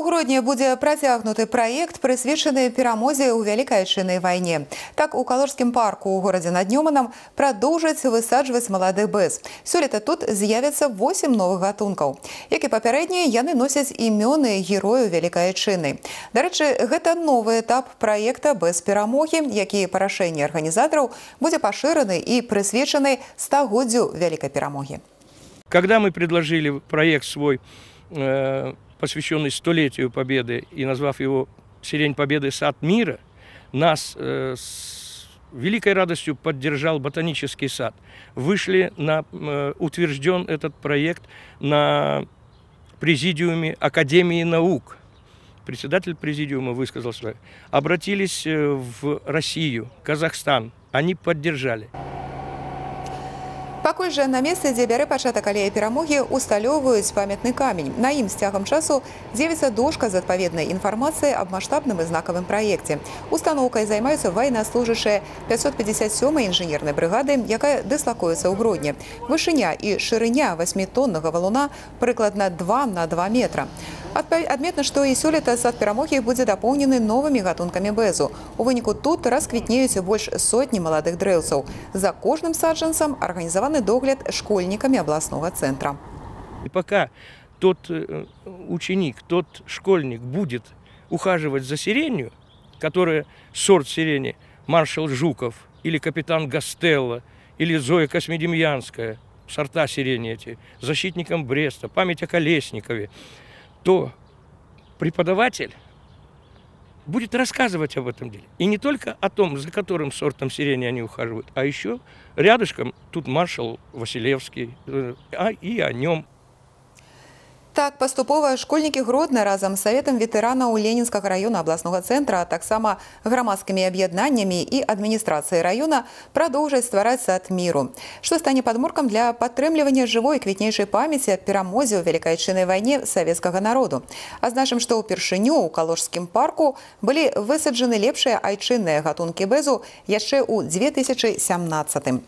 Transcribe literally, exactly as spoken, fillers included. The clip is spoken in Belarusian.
У грудні будзе працягнуты праект, прысвечаны перамозе ў Вялікай Айчыннай вайне. Так, у Калужскім парку ў горадзе над Нёманам прадоўжаць высаджваць малады бэз. Сёлета тут з'явіцца восем новых гатункаў. Як і папярэднія, яны носяць імёны герояў Вялікай Айчынны. Дарэчы, гэта новы этап праекта «Без перамогі», які па рашэнні арганізатараў будзе пашыраны і прысвечаны стагоддзю Вялікай перамогі. Когда мы предложили проект свой, э посвященный столетию Победы, и назвав его «Сирень Победы. Сад мира», нас э, с великой радостью поддержал ботанический сад. Вышли на, э, утвержден этот проект на президиуме Академии наук. Председатель президиума высказал свое. Обратились в Россию, Казахстан. Они поддержали. Пакуль жа на месцы, дзе бярэ пачатак алея перамогі, усталёўваюць памятны камень. На ім з цягам часу з'явіцца дошка з адпаведнай інфармацыяй аб маштабным і знакавым праекце. Устаноўкай займаюцца ваеннаслужачыя пятьсот пятьдесят сёмай інжынернай брыгады, якая дыслакуецца ў Гродні. Вышыня і шырыня васьмітоннага валуна прыкладна два на два метра. Адметна, што і сёлета сад перамогі будзе дапоўнены новымі гатункамі бэзу. У выніку тут расквітнеюць больш сотні маладых дрэўцаў. За кожным саджанцам арганізаваны догляд школьниками областного центра. И пока тот ученик, тот школьник будет ухаживать за сиренью, которая сорт сирени маршал Жуков или капитан Гастелло или Зоя Космедемьянская, сорта сирени эти, защитником Бреста, память о Колесникове, то преподаватель будет рассказывать об этом деле. И не только о том, за которым сортом сирени они ухаживают, а еще рядышком тут маршал Василевский, а и о нем. Так, паступова школьнікі Гродна разам з Саветам ветэранаў Ленінскага района абласнога цэнтра, а таксама грамадскімі аб'яднаннямі і адміністрацыяй района прадоўжаць ствараць сад міру, што стане падмуркам для падтрымлівання жывой квітнейшай памяці аб перамозе ў Вялікай Айчыннай вайне савецкага народу. Азначым, што ўпершыню ў Калужскім парку былі высаджаны лепшыя айчынныя гатункі бэзу яшчэ ў две тысячы сямнаццатым.